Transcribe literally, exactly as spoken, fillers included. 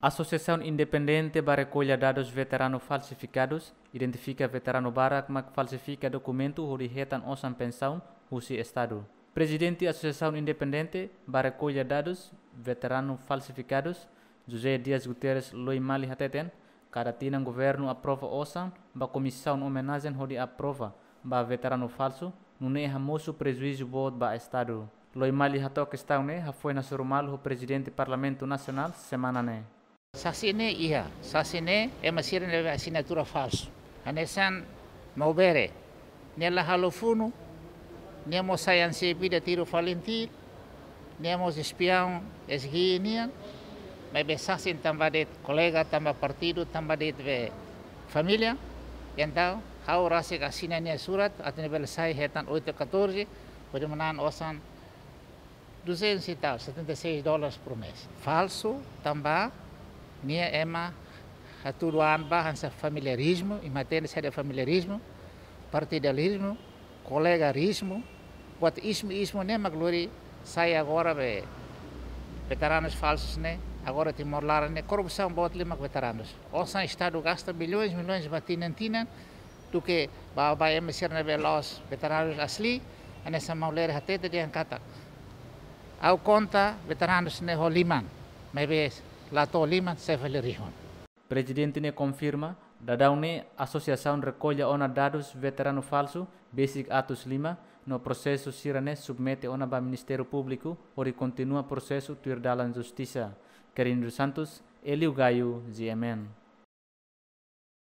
Asosiasaun Independente ba Rekolla Dadus Veteranu Falsifikadus identifika veteranu barak mak falsifika dokumentu hodi hetan osan pensaun husi Estadu. Prezidente Asosiasaun Independente ba Rekolla Dadus Veteranu Falsifikadus, José Dias Guterres Loimali hateten, kada tinan governu aprova osan ba komisaun omenajen hodi aprova ba veteranu falsu, nune'e hamosu prejuízu boot ba Estadu. Loimali hato'o kestaun ne'e hafoin hasoru malu ho Prezidente Parlamentu Nasionál semana ne'e. Sasin ne'e iha, sasin ne'e ema sira ne'ebé asinatura falsu. Hanesan Maubere, nia la halo funu, nia mós sai ansi vida tiru Falintil, nia mós espiaun S G nian, maibé sasin tanba de'it kolega, tanba partidu, tanba de'it be família. Entaun, ha'u rasik asina nia surat, atu nia bele sai hetan oito catorze, hodi manán osan duzentos e tal, setenta e seis dólares por mês. Falsu, tanba nia ema hatudu an ba hanesan familiarizmu, imi hatene saida familiarizmu, partidalizmu, kolegarizmu, buat ismu-ismu ne'e mak lori sai agora be veteranus falsus ne'e, agora Timor laran ne'e korrupsaun boot liu mak veteranus. Osan Estadu gasta milhões, milhões ba tinan-tinan, duké ba, ba ema sira ne'ebé la'ós veteranus asli, hanesan Maubere hatete dehan katak: Ha'u konta veteranus ne'e ho liman, maibé la to'o liman, sai fali rihun. Prezidente ne'e konfirma, daudaun ne'e Asosiasaun rekolla ona dadus veteranu falsu besik atus lima, no prosesu sira-ne'e submete ona ba Ministériu Públiku hodi kontinua prosesu tuir dalan justisa. Querindo Santos, Elio Gaio, G M N.